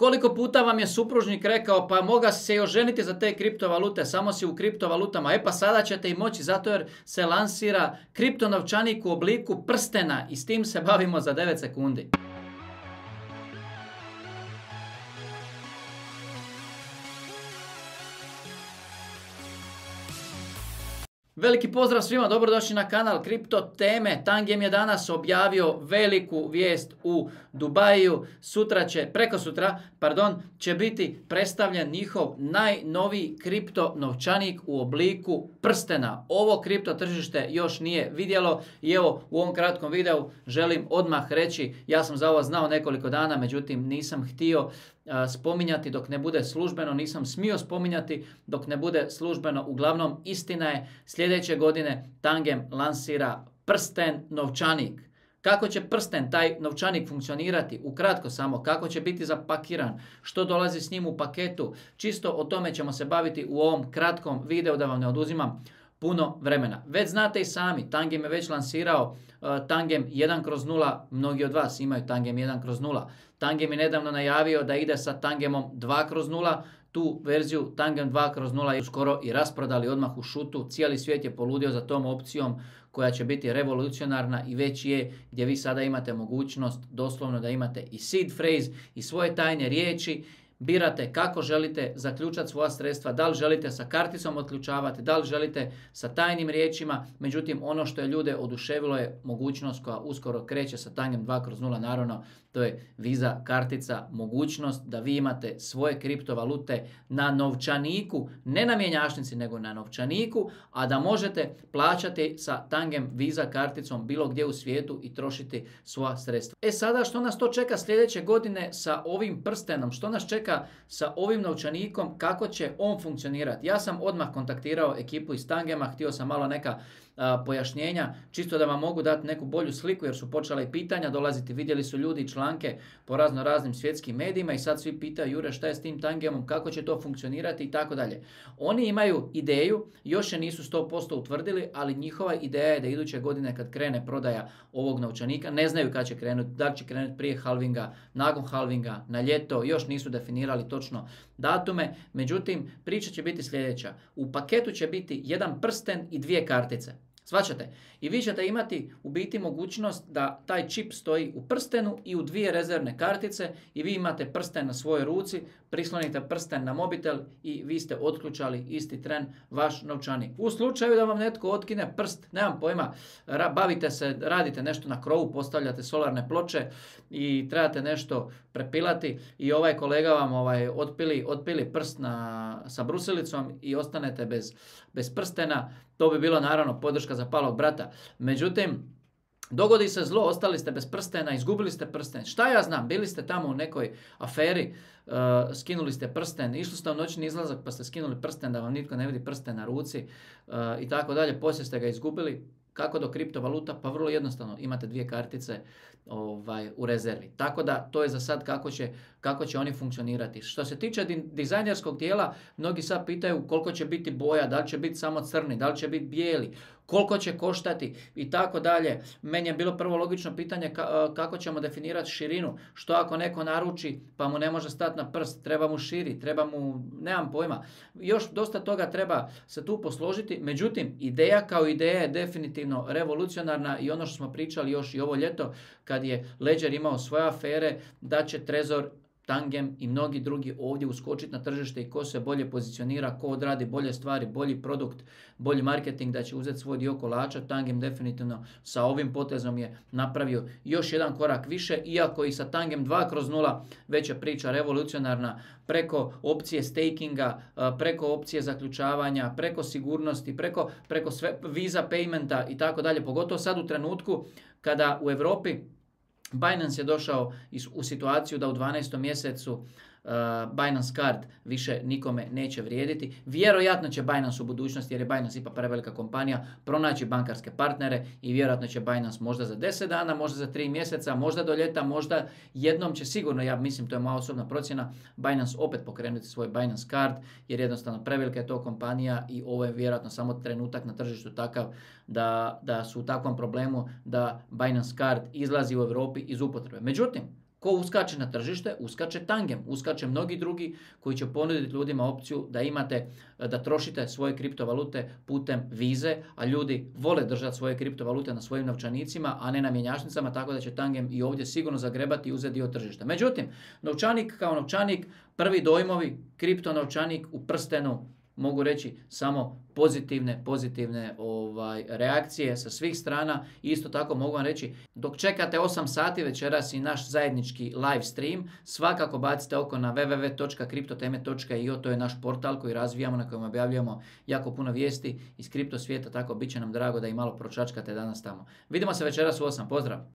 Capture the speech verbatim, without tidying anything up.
Koliko puta vam je supružnik rekao pa moga si se i oženiti za te kriptovalute, samo si u kriptovalutama, e pa sada ćete i moći zato jer se lansira kriptonovčanik u obliku prstena i s tim se bavimo za devet sekundi. Veliki pozdrav svima, dobrodošli na kanal Kripto teme. Tangem je danas objavio veliku vijest u Dubaju. Sutra će, preko sutra, pardon, će biti predstavljen njihov najnoviji kripto novčanik u obliku prstena. Ovo kripto tržište još nije vidjelo i evo u ovom kratkom videu želim odmah reći, ja sam za ovo znao nekoliko dana, međutim nisam htio spominjati dok ne bude službeno, nisam smio spominjati dok ne bude službeno. Uglavnom, istina je, sljedeće godine Tangem lansira prsten novčanik. Kako će prsten, taj novčanik funkcionirati? Ukratko samo, kako će biti zapakiran, što dolazi s njim u paketu, čisto o tome ćemo se baviti u ovom kratkom videu da vam ne oduzimam puno vremena. Već znate i sami, Tangem je već lansirao uh, Tangem jedan kroz nula, mnogi od vas imaju Tangem jedan kroz nula. Tangem je nedavno najavio da ide sa Tangemom dva kroz nula, tu verziju Tangem dva kroz nula je skoro i rasprodali odmah u šutu, cijeli svijet je poludio za tom opcijom koja će biti revolucionarna i već je, gdje vi sada imate mogućnost doslovno da imate i seed phrase i svoje tajne riječi. Birate kako želite zaključati svoja sredstva, da li želite sa karticom otključavati, da li želite sa tajnim riječima. Međutim, ono što je ljude oduševilo je mogućnost koja uskoro kreće sa Tangem dva kroz nula, naravno, to je Visa kartica, mogućnost da vi imate svoje kriptovalute na novčaniku, ne na mjenjačnici, nego na novčaniku, a da možete plaćati sa Tangem Visa karticom bilo gdje u svijetu i trošiti svoja sredstva. E sada, što nas to čeka sljedeće godine sa ovim prstenom? Što nas čeka sa ovim novčanikom? Kako će on funkcionirati? Ja sam odmah kontaktirao ekipu iz Tangema, htio sam malo neka a, pojašnjenja, čisto da vam mogu dati neku bolju sliku jer su počela i pitanja dolaziti, vidjeli su ljudi članke po razno raznim svjetskim medijima i sad svi pitaju Jure šta je s tim Tangemom, kako će to funkcionirati i tako dalje. Oni imaju ideju, još je nisu sto posto utvrdili, ali njihova ideja je da iduće godine kad krene prodaja ovog novčanika, ne znaju kad će krenuti, da li će krenuti prije halvinga, nakon halvinga, na ljeto, još nisu definirali točno datume, međutim priča će biti sljedeća. U paketu će biti jedan prsten i dvije kartice. Shvaćate? I vi ćete imati u biti mogućnost da taj čip stoji u prstenu i u dvije rezervne kartice i vi imate prsten na svojoj ruci, prislonite prsten na mobitel i vi ste otključali isti tren vaš novčanik. U slučaju da vam netko otkine prst, nemam pojma, bavite se, radite nešto na krovu, postavljate solarne ploče i trebate nešto prepilati i ovaj kolega vam ovaj, otpili, otpili prst na, sa brusilicom i ostanete bez, bez prstena, to bi bilo naravno podrška za palog brata. Međutim, dogodi se zlo, ostali ste bez prstena, izgubili ste prsten. Šta ja znam, bili ste tamo u nekoj aferi, uh, skinuli ste prsten, išli ste u noćni izlazak pa ste skinuli prsten da vam nitko ne vidi prsten na ruci uh, i tako dalje, poslije ste ga izgubili. Kako do kriptovaluta? Pa vrlo jednostavno, imate dvije kartice ovaj, u rezervi. Tako da to je za sad kako će, kako će oni funkcionirati. Što se tiče dizajnerskog dijela, mnogi sad pitaju koliko će biti boja, da li će biti samo crni, da li će biti bijeli, koliko će koštati i tako dalje. Meni je bilo prvo logično pitanje kako ćemo definirati širinu. Što ako neko naruči pa mu ne može stati na prst, treba mu širi, treba mu, nemam pojma. Još dosta toga treba se tu posložiti. Međutim, ideja kao ideja je definitivno revolucionarna i ono što smo pričali još i ovo ljeto kad je Ledger imao svoje afere, da će Trezor, Tangem i mnogi drugi ovdje uskočiti na tržište i ko se bolje pozicionira, ko odradi bolje stvari, bolji produkt, bolji marketing, da će uzeti svoj dio kolača. Tangem definitivno sa ovim potezom je napravio još jedan korak više, iako i sa Tangem dva kroz nula već je priča revolucionarna preko opcije stakinga, preko opcije zaključavanja, preko sigurnosti, preko, preko sve, Visa paymenta i tako dalje, pogotovo sad u trenutku kada u Europi Binance je došao u situaciju da u dvanaestom mjesecu uh, Binance Card više nikome neće vrijediti. Vjerojatno će Binance u budućnosti, jer je Binance ipak prevelika kompanija, pronaći bankarske partnere i vjerojatno će Binance možda za deset dana, možda za tri mjeseca, možda do ljeta, možda jednom će sigurno, ja mislim, to je moja osobna procjena, Binance opet pokrenuti svoj Binance Card, jer jednostavno prevelika je to kompanija i ovo je vjerojatno samo trenutak na tržištu takav da, da su u takvom problemu da Binance Card izlazi u Europi iz upotrebe. Međutim, Ko uskače na tržište? Uskače Tangem, uskače mnogi drugi koji će ponuditi ljudima opciju da imate, da trošite svoje kriptovalute putem vize, a ljudi vole držati svoje kriptovalute na svojim novčanicima, a ne na mjenjačnicama, tako da će Tangem i ovdje sigurno zagrebati i uzeti dio tržišta. Međutim, novčanik kao novčanik, prvi dojmovi, kripto novčanik u prstenu, mogu reći samo pozitivne, pozitivne ovaj, reakcije sa svih strana. Isto tako mogu vam reći, dok čekate osam sati večeras i naš zajednički live stream, svakako bacite oko na w w w točka kriptoteme točka i o, to je naš portal koji razvijamo, na kojem objavljujemo jako puno vijesti iz kripto svijeta, tako bit će nam drago da i malo pročačkate danas tamo. Vidimo se večeras u osam, pozdrav!